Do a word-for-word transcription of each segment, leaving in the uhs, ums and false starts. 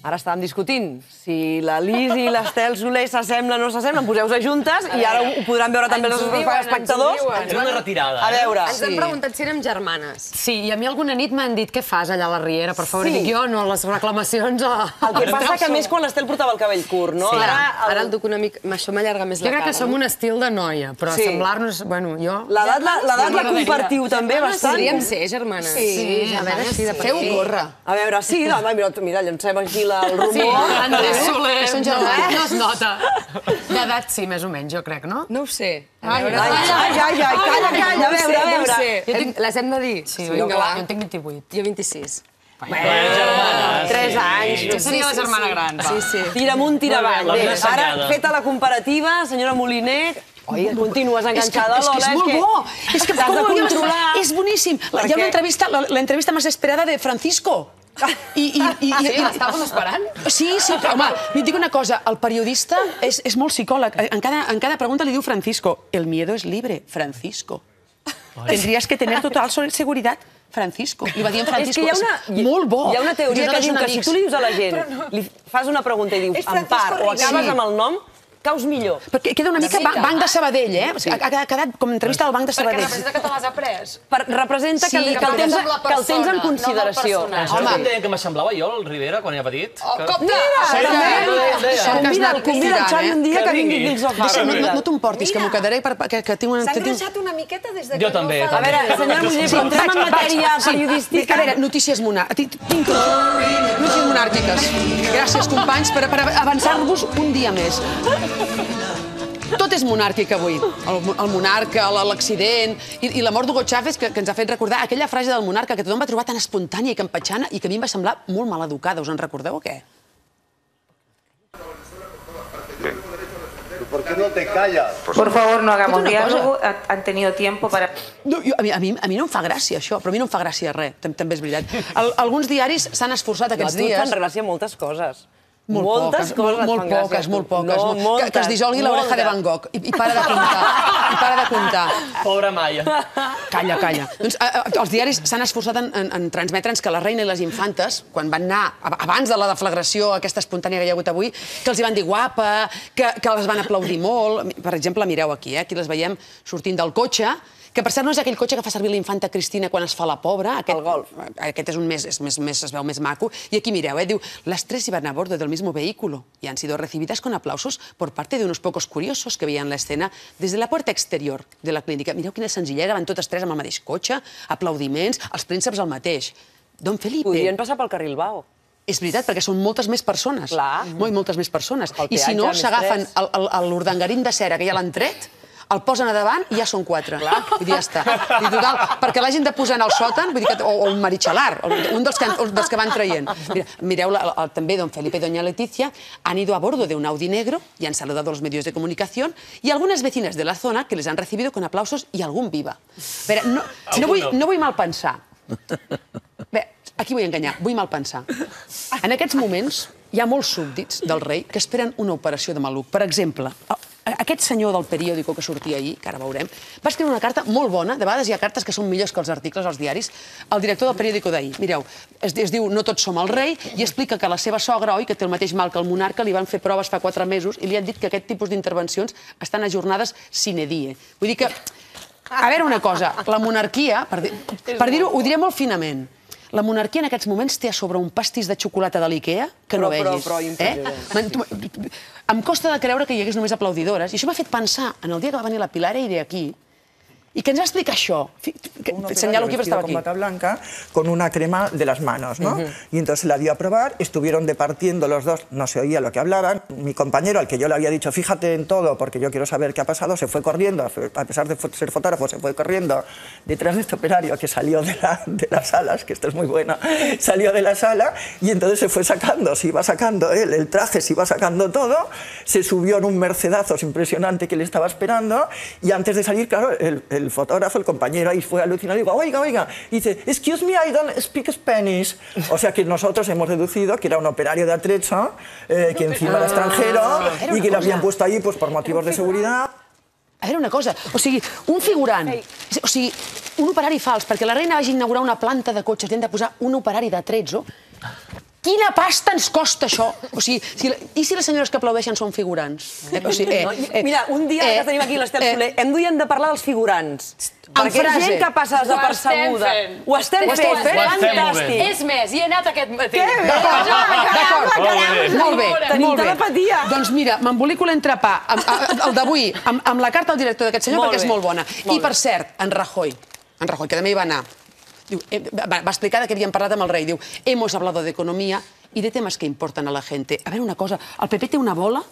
Ara estàvem discutint si la Lis i l'Estel Soler s'assemblen o no s'assemblen, poseu-se juntes i ara ho podran veure també els espectadors. Ens una retirada. A veure. Ens han preguntat si érem germanes. Sí, i a mi alguna nit m'han dit què fas allà a la Riera, per favor, i dic jo, no, les reclamacions... El que passa que més quan l'Estel portava el cabell curt, no? Ara el duc una mica... Això m'allarga més la Jo cara. crec que som un estil de noia, però semblar-nos... Bueno, jo... L'edat la compartiu també bastant. Podríem ser germanes. Sí, a veure si de per Feu gorra. A veure, sí, mira, llancem aquí el rumor. Andrés Soler, Són germanes. no es nota. D'edat sí, més o menys, jo crec, no? No ho sé. Ai, ai, ai, ai, calla, calla, a veure, a veure. Les hem de dir? Sí, jo en tinc vint-i-vuit. Jo vint-i-sis. Tres anys. Jo seria la germana gran. Sí, sí. Tira amunt, tira avall. Ara, feta la comparativa, senyora Moliner, oi, continues enganxada a l'Ola. És que és molt bo. És que t'has de controlar. És boníssim. Hi ha una entrevista, l'entrevista més esperada de Francisco. Sí, l'estàvem esperant? Sí, sí, però, home, et dic una cosa, el periodista és molt psicòleg. En cada pregunta li diu Francisco, el miedo es libre, Francisco. Tendrías que tener total seguridad, Francisco. Li va dir en Francisco. Molt bo. Hi ha una teoria que diu que si tu li dius a la gent, li fas una pregunta i dius en part o acabes amb el nom, caus millor. Perquè queda una mica Banc de Sabadell, eh? Ha quedat com entrevista al Banc de Sabadell. Perquè representa que te l'has après. Representa que el tens en consideració. Això em deien que m'assemblava jo, el Rivera, quan era petit. Compte! Convida el Xavi un dia que vingui dins el far. No t'emportis, que m'ho quedaré que tinc una... S'ha engreixat una miqueta des que jo també. A veure, senyora Moliner, però entrem en matèria periodística. A veure, notícies monàrquiques. Gràcies, companys, per avançar-vos un dia més. Tot és monàrquic avui. El monarca, l'accident i la mort d'Hugo Chávez, que ens ha fet recordar aquella frase del monarca que tothom va trobar tan espontània i campatxana i que a mi em va semblar molt maleducada. Us en recordeu o què? ¿Por qué no te callas? Por favor, no hagamos diálogo. Han tenido tiempo para... A mi no em fa gràcia, això, però a mi no em fa gràcia res, també és veritat. Alguns diaris s'han esforçat aquests dies... A tu et fan gràcia moltes coses. Molt poques, molt poques, molt poques. Que es dissolgui l'oreja de Van Gogh i para de comptar. I para de comptar. Pobra Maia. Calla, calla. Els diaris s'han esforçat en transmetre'ns que la reina i les infantes, quan van anar, abans de la deflagració aquesta espontània que hi ha hagut avui, que els hi van dir guapa, que les van aplaudir molt. Per exemple, mireu aquí, aquí les veiem sortint del cotxe, que per cert no és aquell cotxe que fa servir la infanta Cristina quan es fa la pobra. El Golf. Aquest és un més, es veu més maco. I aquí mireu, diu, las tres iban a bordo del mismo vehículo y han sido recibidas con aplausos por parte de unos pocos curiosos que veían la escena desde la puerta exterior de la clínica. Mireu quina senzillesa, van totes tres amb el mateix cotxe, aplaudiments, els prínceps el mateix. Don Felipe... Podrien passar pel carril Bao. És veritat, perquè són moltes més persones. Clar. Molt, moltes més persones. I si no, s'agafen l'urdangarín de cera que ja l'han tret, el posen a davant i ja són quatre. Vull dir, ja està. Perquè l'hagin de posar en el sòtan, o un marichalar, un dels que van traient. Mireu, també don Felipe y doña Leticia han ido a bordo de un Audi negro y han saludado a los medios de comunicación y algunas vecinas de la zona que les han recibido con aplausos y algún viva. No vull mal pensar. Bé, aquí vull enganyar, vull mal pensar. En aquests moments hi ha molts súbdits del rei que esperen una operació de maluc. Per exemple, aquest senyor del periòdico que sortia ahir, que ara veurem, va escriure una carta molt bona, de vegades hi ha cartes que són millors que els articles als diaris, al director del periòdico d'ahir. Mireu, es diu No tots som el rei i explica que la seva sogra, oi, que té el mateix mal que el monarca, li van fer proves fa quatre mesos i li han dit que aquest tipus d'intervencions estan ajornades sine die. Vull dir que, a veure una cosa, la monarquia, per dir-ho, ho diré molt finament, la monarquia en aquests moments té a sobre un pastís de xocolata de l'Ikea que no vegis. Em costa de creure que hi hagués només aplaudidores. I això m'ha fet pensar en el dia que va venir la Pilar Eire aquí y que ens va explicar això. Señalo aquí, pero estaba aquí. Con bata blanca, con una crema de las manos, ¿no? Y entonces la dio a probar, estuvieron departiendo los dos, no se oía lo que hablaban. Mi compañero, al que yo le había dicho, fíjate en todo, porque yo quiero saber qué ha pasado, se fue corriendo, a pesar de ser fotógrafo, se fue corriendo detrás de este operario que salió de, la, de las salas, que esto es muy bueno, salió de la sala y entonces se fue sacando, se iba sacando él, el traje, se iba sacando todo, se subió en un mercedazos impresionante que le estaba esperando y antes de salir, claro, el, el el fotógrafo, el compañero, ahí fue alucinado y digo, oiga, oiga, y dice, excuse me, I don't speak Spanish. O sea que nosotros hemos deducido que era un operario de atrecho, eh, que encima era extranjero y que lo habían puesto ahí pues, por motivos de seguridad. A veure una cosa, o sigui, un figurant, o sigui, un operari fals, perquè la reina vagi a inaugurar una planta de cotxes, li han de posar un operari d'atrezzo. Quina pasta ens costa això? O sigui, si, i si les senyores que aplaudeixen són figurants? Eh, o sigui, eh, No, eh, Mira, un dia eh, que tenim aquí l'Estel eh, Soler, hem duien de parlar dels figurants. En Perquè frase. gent que passa desapercebuda. Ho estem Ho estem fent, fent? Ho estem fent. fantàstic. És més, hi he anat aquest matí. D'acord, d'acord. Molt bé, Tenim molt bé. telepatia. Doncs mira, m'embolico l'entrepà, amb- a- el d'avui, amb, amb la carta al director d'aquest senyor, Molt perquè és bé. molt bona. Molt I, per cert, en Rajoy, en Rajoy, que també hi va anar, diu, eh, va, va explicar de què havíem parlat amb el rei. Diu, hemos hablado de economía y de temas que importan a la gente. A veure, una cosa, el P P té una bola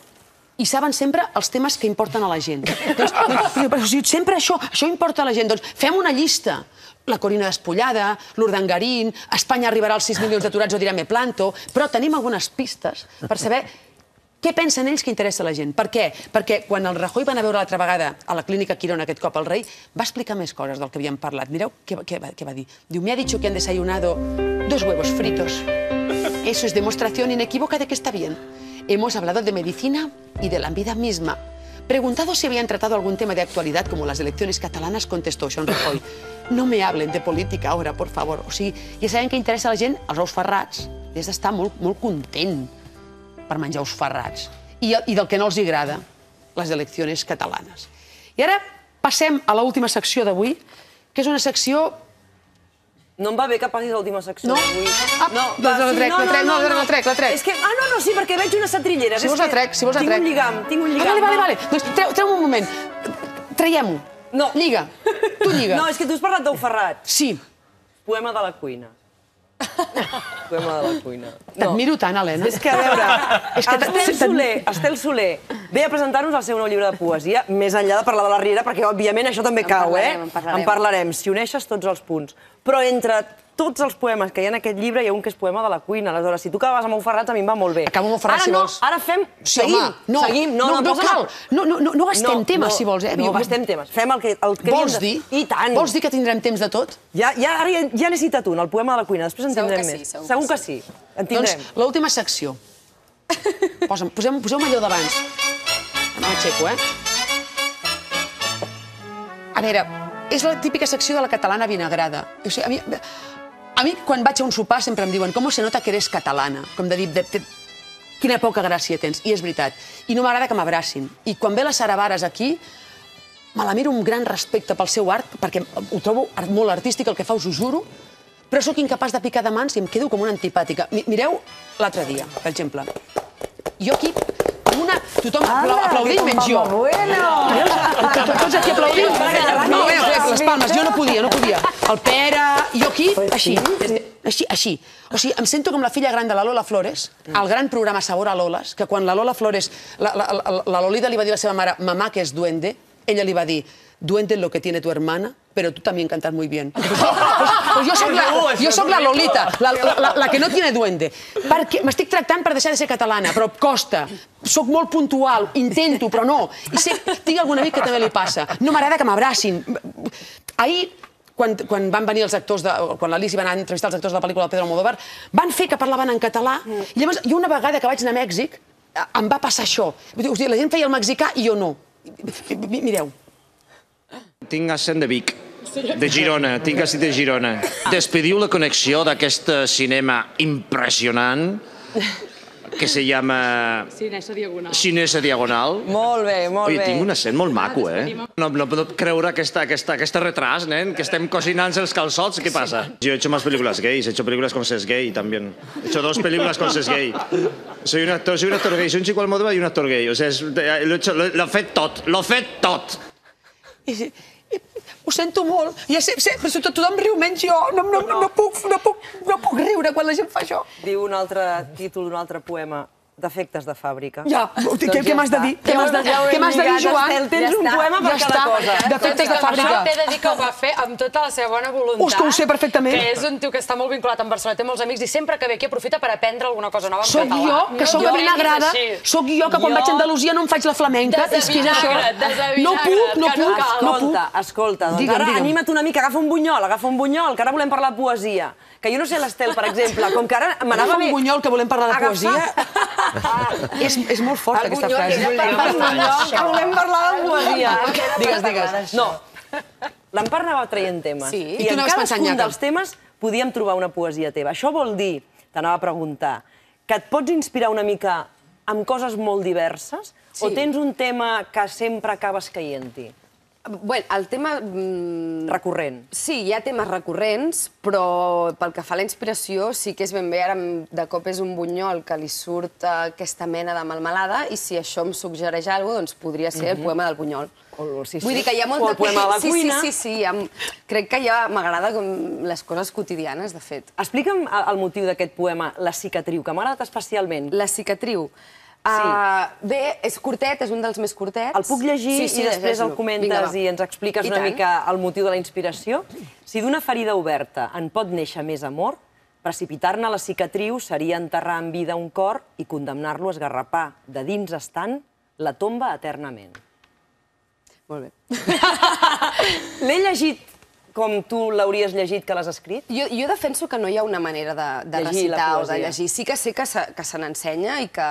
i saben sempre els temes que importen a la gent. Doncs, doncs, però, si sempre això, això importa a la gent. Doncs fem una llista. La Corina Despullada, l'Urdangarín, Espanya arribarà als sis milions d'aturats o dirà me planto, però tenim algunes pistes per saber què pensen ells que interessa a la gent. Per què? Perquè quan el Rajoy va anar a veure l'altra vegada a la clínica Quirón, aquest cop el rei, va explicar més coses del que havíem parlat. Mireu què, què, va, què va dir. Diu, me ha dicho que han desayunado dos huevos fritos. Eso es demostración inequívoca de que está bien. Hemos hablado de medicina y de la vida misma. Preguntado si habían tratado algún tema de actualidad como las elecciones catalanas, contestó Sean Rajoy. No me hablen de política ahora, por favor. O sigui, ja sabem què interessa a la gent, els ous ferrats. Has d'estar molt, molt content per menjar ous ferrats. I, I del que no els agrada, les eleccions catalanes. I ara passem a l'última secció d'avui, que és una secció... No em va bé que passis l'última secció. No? Avui. Ah, doncs la sí, trec, la trec, no, la trec, la trec. És que, ah, no, no, sí, perquè veig unes setrilleres. Si vols És la que trec, si vols la trec. Tinc un lligam, tinc un lligam. Ah, vale, vale, vale. Doncs treu, treu un moment. Traiem-ho. No. Lliga. Tu lliga. No, és que tu has parlat d'ou ferrat. Sí. Poema de la cuina. Poema de la cuina. T'admiro tant, Helena. És que, a veure, És que Estel t'ad- Soler, Estel Soler ve a presentar-nos el seu nou llibre de poesia, més enllà de parlar de la Riera, perquè, òbviament, això també cau, eh? parlarem, en parlarem. En parlarem, si uneixes tots els punts. Però entre tots els poemes que hi ha en aquest llibre, hi ha un que és poema de la cuina. Aleshores, si tu acabes amb Ou Ferrats, a mi em va molt bé. Acabo amb Ou Ferrats, Ara si no, vols. Ara fem... Sí, seguim, home, no, seguim. no, no, posa- cal. No, no, no, no gastem temes, si vols, eh? No Jo- gastem temes. Fem el que, el que Vols havíem de- dir? I tant. Vols dir que tindrem temps de tot? Ja, ja, ara ja, ja n'he citat un, el poema de la cuina. Després en Segur tindrem que sí, més. segur Segur que que sí. En tindrem. Doncs l'última secció. Posa'm, posem, poseu-me allò d'abans. M'aixeco, eh? A veure, és la típica secció de la catalana vinagrada. O sigui, a mi, a mi, quan vaig a un sopar, sempre em diuen com se nota que eres catalana? Com de dir, de, de, quina poca gràcia tens. I és veritat. I no m'agrada que m'abracin. I quan ve la Sara Vares aquí, me la miro amb gran respecte pel seu art, perquè ho trobo art- molt artístic, el que fa, us ho juro, però sóc incapaç de picar de mans i em quedo com una antipàtica. Mi- Mireu l'altre dia, per exemple. Jo aquí, amb una... Tothom apla aplaudint, menys jo. Tots tots aquí aplaudint. No, bé, les palmes, jo no podia, no podia. El Pere, jo aquí, així. Així, així. O sigui, em sento com la filla gran de la Lola Flores, al gran programa Sabor a Lolas, que quan la Lola Flores, la, la, la, la Lolita li va dir a la seva mare, mamà, que és duende, ella li va dir, duende es lo que tiene tu hermana, pero tú también cantas muy bien. Pues, pues, pues jo soc la, jo soc la Lolita, la, la, la, la que no tiene duende. Perquè m'estic tractant per deixar de ser catalana, però costa. Soc molt puntual, intento, però no. I sé, tinc algun amic que també li passa. No m'agrada que m'abracin. Ahir, quan, quan van venir els actors, de, quan l'Alici va anar a entrevistar els actors de la pel·lícula de Pedro Almodóvar, van fer que parlaven en català, i llavors jo una vegada que vaig anar a Mèxic, em va passar això. O sigui, la gent feia el mexicà i jo no. Mireu. Tinc accent de Vic, de Girona, tinc accent de Girona. Despediu la connexió d'aquest cinema impressionant que se llama... Cinesa Diagonal. Cinesa Diagonal. Molt bé, molt Oye, bé. tinc un accent molt maco, eh? No, no puedo creure aquesta, aquesta, aquesta retras, nen, que estem cocinant els calçots. ¿Qué pasa? Yo he hecho más películas gays, he hecho películas con ses gay también. He hecho dos películas con ses gay. Soy un actor, soy un actor gay, soy un chico Almodóvar y un actor gay. O sea, es, lo he hecho, lo, lo he fet tot, lo he fet tot. I, i, ho sento molt. Ja sé, sé, però tot, tothom riu menys jo. No, no, no, puc, no, puc, no puc riure quan la gent fa això. Diu un altre títol d'un altre poema, Defectes de fàbrica. Ja, què, què m'has de dir? Què m'has de, Ja ho hem què m'has de dir, lligat, Joan? Estel, tens un poema per ja cada està. cosa. Defectes de fàbrica. Això t'he de dir que ho va fer amb tota la seva bona voluntat. Us que ho sé perfectament. Que és un tio que està molt vinculat amb Barcelona, té molts amics i sempre que ve aquí aprofita per aprendre alguna cosa nova en Soc català. jo, que sóc la vinagrada, sóc jo que quan vaig a Andalusia no em faig la flamenca. És que és això. No puc, no puc, no puc. Escolta, escolta, doncs Digue'm, ara digue'm. anima't una mica, agafa un bunyol, agafa un bunyol, que ara volem parlar de poesia. Que jo no sé l'Estel, per exemple, com que ara m'anava Agafa bé... un bunyol, que volem parlar de Agafar- poesia. És, és molt forta, aquesta bunyol, frase. Agafar un bunyol, que volem parlar de poesia. Digues, digues. No, l'Empar anava traient temes. Sí. I I tu en anaves pensant, cadascun Nyaca. dels temes podíem trobar una poesia teva. Això vol dir, t'anava a preguntar, que et pots inspirar una mica amb coses molt diverses o tens un tema que sempre acabes caient-hi? Bé, el tema... Recurrent. Sí, hi ha temes recurrents, però pel que fa a la inspiració sí que és ben bé, ara de cop és un bunyol que li surt aquesta mena de melmelada i si això em suggereix alguna cosa, doncs podria ser el poema del bunyol. Vull dir que hi ha molt o el poema de la cuina. Sí, sí, sí. Crec que ja m'agrada les coses quotidianes, de fet. Explica'm el motiu d'aquest poema, La cicatriu, que m'ha agradat especialment. La cicatriu. Bé, és curtet, és un dels més curtets. El puc llegir i després el comentes i ens expliques una mica el motiu de la inspiració? Si d'una ferida oberta en pot néixer més amor, precipitar-ne la cicatriu seria enterrar en vida un cor i condemnar-lo a esgarrapar de dins estant la tomba eternament. Molt bé. L'he llegit com tu l'hauries llegit que l'has escrit? Jo defenso que no hi ha una manera de recitar o de llegir. Sí que sé que se n'ensenya i que,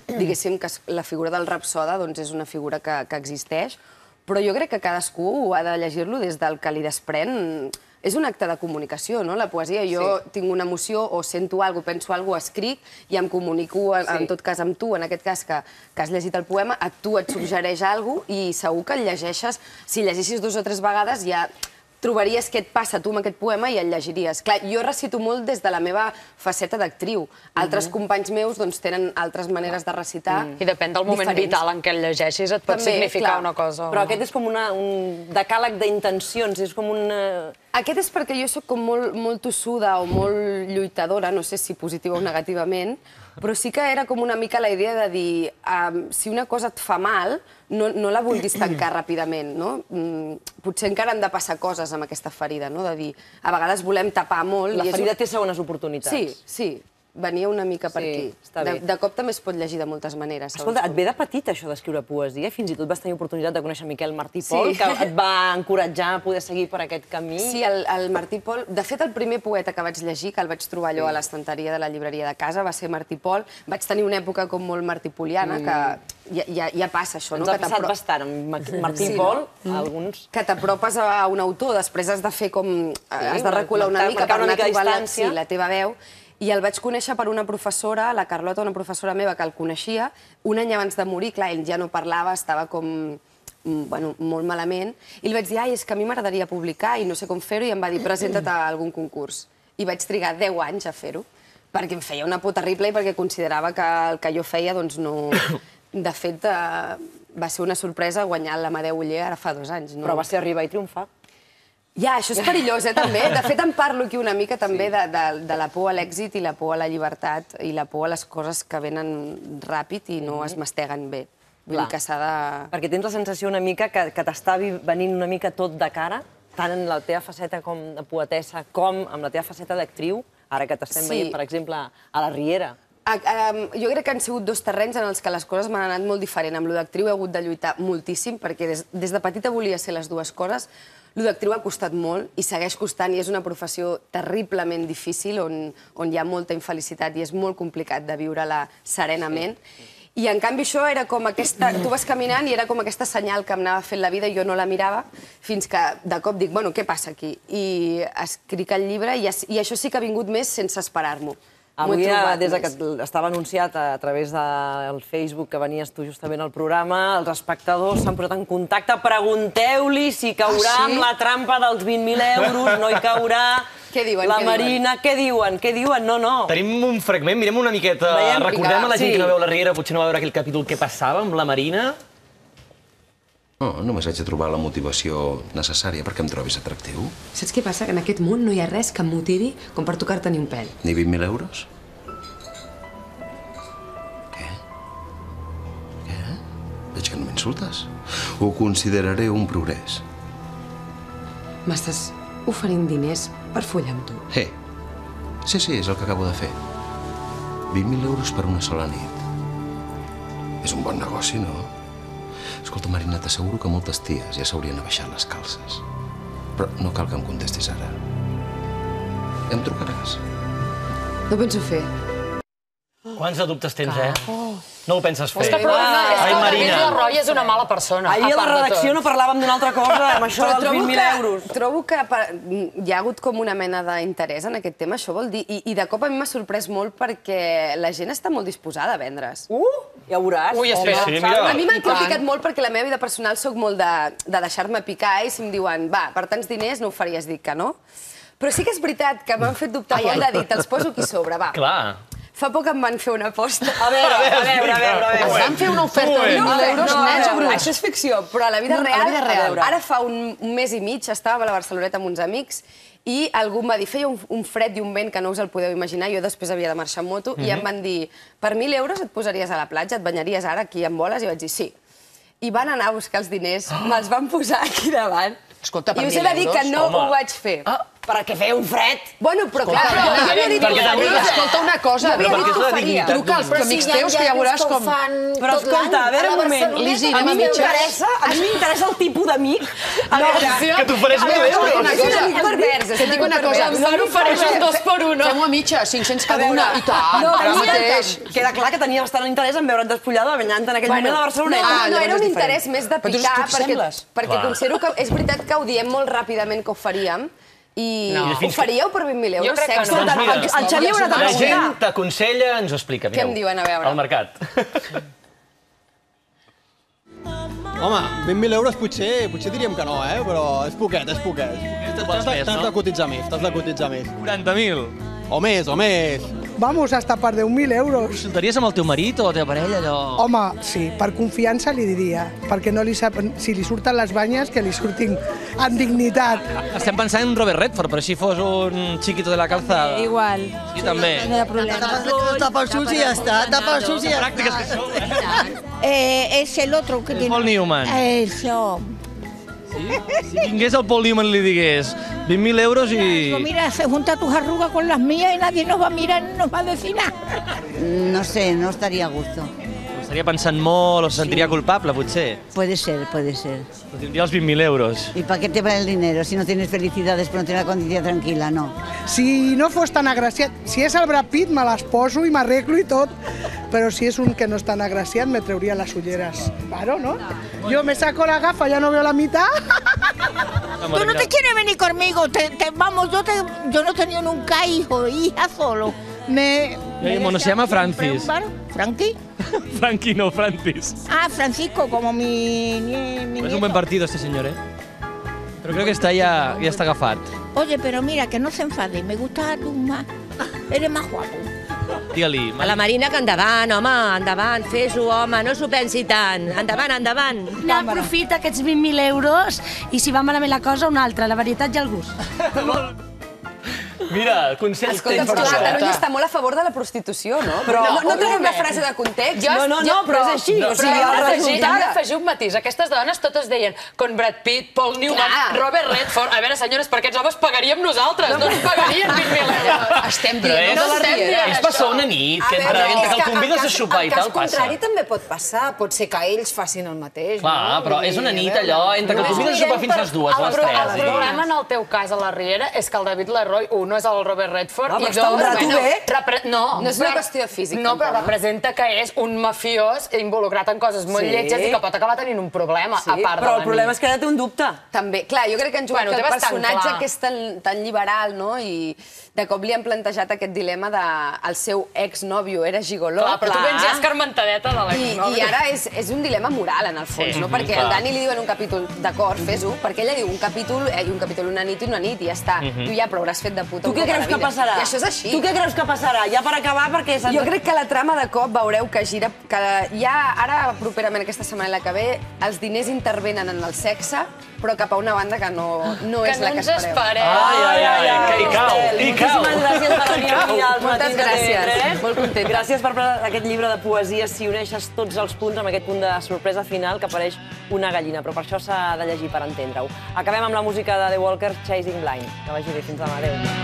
diguéssim, que la figura del rapsode és una figura que existeix, però jo crec que cadascú ha de llegir-lo des del que li desprèn. És un acte de comunicació, no? La poesia, jo tinc una emoció o sento alguna cosa, penso alguna cosa, escric i em comunico, en tot cas amb tu, en aquest cas que has llegit el poema, a tu et suggereix alguna cosa i segur que el llegeixes, si llegeixis dues o tres vegades ja trobaries què et passa tu amb aquest poema i el llegiries. Clar, jo recito molt des de la meva faceta d'actriu. Altres companys meus tenen altres maneres de recitar. I depèn del moment vital en què el llegeixis, et pot significar una cosa. Però aquest és com un decàleg d'intencions, és com un... Aquest és perquè jo soc com molt tossuda o molt lluitadora, no sé si positiva o negativament, però sí que era com una mica la idea de dir si una cosa et fa mal, no la vulguis tancar ràpidament, no? Potser encara han de passar coses amb aquesta ferida, no? De dir, a vegades volem tapar molt... La ferida té segones oportunitats. Sí, sí. Venia una mica per aquí. De cop també es pot llegir de moltes maneres. Escolta, et ve de petit això d'escriure poesia? Fins i tot vas tenir oportunitat de conèixer Miquel Martí Pol, que et va encoratjar a poder seguir per aquest camí? Sí, el Martí Pol... De fet, el primer poeta que vaig llegir, que el vaig trobar allò a l'estanteria de la llibreria de casa, va ser Martí Pol. Vaig tenir una època com molt martipoliana, que ja passa això, no? Ens ha passat bastant amb Martí Pol, alguns... Que t'apropes a un autor, després has de fer com... Has de recular una mica per anar trobant la teva veu. I el vaig conèixer per una professora, la Carlota, una professora meva que el coneixia, un any abans de morir, clar, ell ja no parlava, estava com, bueno, molt malament, i li vaig dir, ai, és que a mi m'agradaria publicar i no sé com fer-ho, i em va dir, presenta't a algun concurs. I vaig trigar deu anys a fer-ho, perquè em feia una por terrible i perquè considerava que el que jo feia, doncs no... De fet, va ser una sorpresa guanyar l'Amadeu Oller ara fa dos anys. Però va ser arribar i triomfar. Ja, això és perillós, eh, també. De fet, em parlo aquí una mica també de la por a l'èxit i la por a la llibertat i la por a les coses que venen ràpid i no es masteguen bé. Vull dir que s'ha de... Perquè tens la sensació una mica que t'està venint una mica tot de cara, tant en la teva faceta com de poetessa com amb la teva faceta d'actriu, ara que t'estem veient, per exemple, a la Riera. Jo crec que han sigut dos terrenys en els que les coses m'han anat molt diferent. Amb lo d'actriu he hagut de lluitar moltíssim, perquè des de petita volia ser les dues coses. Lo d'actriu ha costat molt i segueix costant i és una professió terriblement difícil on hi ha molta infelicitat i és molt complicat de viure-la serenament. I en canvi això era com aquesta... Tu vas caminant i era com aquesta senyal que em anava fent la vida i jo no la mirava fins que de cop dic, bueno, què passa aquí? I escric el llibre i això sí que ha vingut més sense esperar-m'ho. Avui, des que estava anunciat a través del Facebook que venies tu justament al programa, els espectadors s'han posat en contacte. Pregunteu-li si caurà amb la trampa dels vint mil euros, no hi caurà. Què diuen? La Marina, què diuen? Què diuen? No, no. Tenim un fragment, mirem una miqueta. Recordem a la gent que no veu la Riera, potser no va veure aquell capítol què passava amb la Marina. No, només haig de trobar la motivació necessària perquè em trobis atractiu. Saps què passa? Que en aquest món no hi ha res que em motivi com per tocar-te ni un pèl. Ni vint mil euros? Què? Què? Veig que no m'insultes. Ho consideraré un progrés. M'estàs oferint diners per follar amb tu? Eh, sí, sí, és el que acabo de fer. vint mil euros per una sola nit. És un bon negoci, no? Escolta, Marina, t'asseguro que moltes ties ja s'haurien abaixat les calces. Però no cal que em contestis ara. Em trucaràs? No penso fer. Quants de dubtes tens, eh? No ho penses fer. És que el problema és que el David La Roya és una mala persona. Ahir a la redacció no parlàvem d'una altra cosa, amb això dels vint mil euros. Trobo que hi ha hagut com una mena d'interès en aquest tema, això vol dir, i de cop a mi m'ha sorprès molt perquè la gent està molt disposada a vendre's. Uh, ja ho veuràs. Ui, espera. A mi m'han criticat molt perquè la meva vida personal soc molt de deixar-me picar i si em diuen, va, per tants diners no ho faries, dic que no. Però sí que és veritat que m'han fet dubtar molt de dir, te'ls poso aquí sobre, va. Clar. Fa poc em van fer una aposta. A veure, a veure, a veure. Es van fer una oferta de vint mil euros nens o bruts? Això és ficció, però a la vida real, ara fa un mes i mig estàvem a la Barceloneta amb uns amics i algú em va dir, feia un fred i un vent que no us el podeu imaginar, jo després havia de marxar en moto, i em van dir, per mil euros et posaries a la platja, et banyaries ara aquí amb boles? I vaig dir, sí. I van anar a buscar els diners, me'ls van posar aquí davant. Escolta, per I us mil he de dir que no ho vaig fer. Perquè feia un fred. Bueno, però clar, jo havia dit que ho faria. Escolta una cosa, Havia dit que ho faria. truca als amics teus que ja veuràs com... Però escolta, a veure un moment, Lisi, a anem mi a mitges. m'interessa, a mi m'interessa el tipus d'amic. A veure, Que t'ofereix mil euros. És un amic pervers, és Et dic una cosa, Em van oferir un dos per uno. fem-ho a mitges, cinc-cents cada una, i tant, ara mateix. Queda clar que tenia bastant interès en veure't despullada banyant en aquell moment a Barceloneta. No, no, era un interès més de Però tu picar, t'ho sembles. perquè considero que és veritat que ho diem molt ràpidament que ho faríem, i ho faríeu per vint mil euros? Jo crec que no. Doncs mira, El Xavier haurà de la preguntar. gent t'aconsella, ens ho explica, mireu. Què em diuen, a veure? Al mercat. Home, vint mil euros potser, potser diríem que no, eh? Però és poquet, és poquet. T'has de, t'has de cotitzar més, t'has de cotitzar més. quaranta mil. O més, o més. Vamos, hasta per deu mil euros. Consultaries amb el teu marit o la teva parella, allò... Home, sí, per confiança li diria, perquè no li sap, si li surten les banyes, que li surtin amb dignitat. Estem pensant en Robert Redford, però si fos un chiquito de la calzada. Igual. Sí, també. No hi ha problema. Tapa el sus i ja està, tapa el sus i ja està. Pràctiques que sou, eh? Eh, es el otro que tiene... Paul Newman. Eso. Si vingués el Paul Newman i li digués vint mil euros i... Pues mira, se junta tus arrugas con las mías y nadie nos va a mirar ni nos va a decir nada. No sé, no estaría a gusto. Estaria pensant molt o se sentiria culpable, potser. Puede ser, puede ser. Però tindria els vint mil euros. ¿Y para qué te vale el dinero si no tienes felicidad después no tienes la conciencia tranquila? No. Si no fos tan agraciat, si és el Brad Pitt, me les poso i m'arreglo i tot, però si és un que no és tan agraciat, me trauria les ulleres. Claro, ¿no? Yo me saco la gafa, ya no veo la mitad. Tú no te quieres venir conmigo, te, te, vamos, yo, te, yo no he tenido nunca hijo, hija solo. Me... Mi mono se llama Francis. ¿Frankie? Frankie no, Francis. Ah, Francisco, como mi, mi, mi Es un buen partido este señor, ¿eh? Pero creo que está ya, ya está agafat. Oye, pero mira, que no se enfade, me gusta tú más, eres más guapo. Digue-li. A la Marina que endavant, home, endavant, fes-ho, home, no s'ho pensi tant. Endavant, endavant. No, aprofita aquests vint mil euros i si va malament la cosa, una altra, la varietat i el gust. Mira, consells Escolta, tens per però això. Catalunya està molt a favor de la prostitució, no? Però- no, no tenim una òbviament. frase de context. Jo- No, no, no, jo- però és així, o Però sigui, hem el d'afegir- resultat- hem d'afegir un matís. Aquestes dones totes deien con Brad Pitt, Paul Newman, Clar. Robert Redford. A veure, senyores, per aquests homes pagaríem nosaltres, no ens pagarien vint mil euros. Estem Però dient, és, no estem dient és passar una nit, que entre, entre que el convides a sopar i tal, passa. també pot passar, pot ser que ells facin el mateix. Clar, però és una nit allò, entre que el convides a sopar fins a les dues, a les El pro- tres. El problema en el teu cas a la Riera és que el David Leroy, un, no és el Robert Redford, Ah, i però està un dos, rato bé. repre- no, No és una però- qüestió física, No, però tampoc. representa que és un mafiós involucrat en coses molt Sí. lletges i que pot acabar tenint un problema, Sí, a part de però la el problema nit. és que ara té un dubte. També, clar, jo crec que han jugat Bueno, que té el bastant personatge clar. que és tan, tan liberal, no? I de cop li han plantejat aquest dilema de el seu exnòvio era gigoló. Clar, però tu Clar. vens ja escarmentadeta de I, l'exnòvio. I ara és, és un dilema moral, en el fons, Sí, no? mhm, Perquè clar. el Dani li diu en un capítol, d'acord, fes-ho, perquè ella diu un capítol, eh, i un capítol una nit i una nit, i ja està. Mhm. Tu ja, però hauràs fet de puta Tu un què cop a creus la que vida. passarà? I això és així. Tu què creus que passarà? Ja per acabar, perquè... Jo crec que la trama de cop veureu que gira, que ja ara properament aquesta setmana i la que ve, els diners intervenen en el sexe, però cap a una banda que no, no Que és la no que ens espereu. espereu. Ai, ai, ai, que hi cau, hi cau. Moltíssimes gràcies per venir aquí als Moltes matins de T V gràcies. tres. Molt contenta. Gràcies per aquest llibre de poesia, si uneixes tots els punts amb aquest punt de sorpresa final que apareix una gallina, però per això s'ha de llegir per entendre-ho. Acabem amb la música de The Walkers, Chasing Blind. Que vagi bé, fins demà, adéu.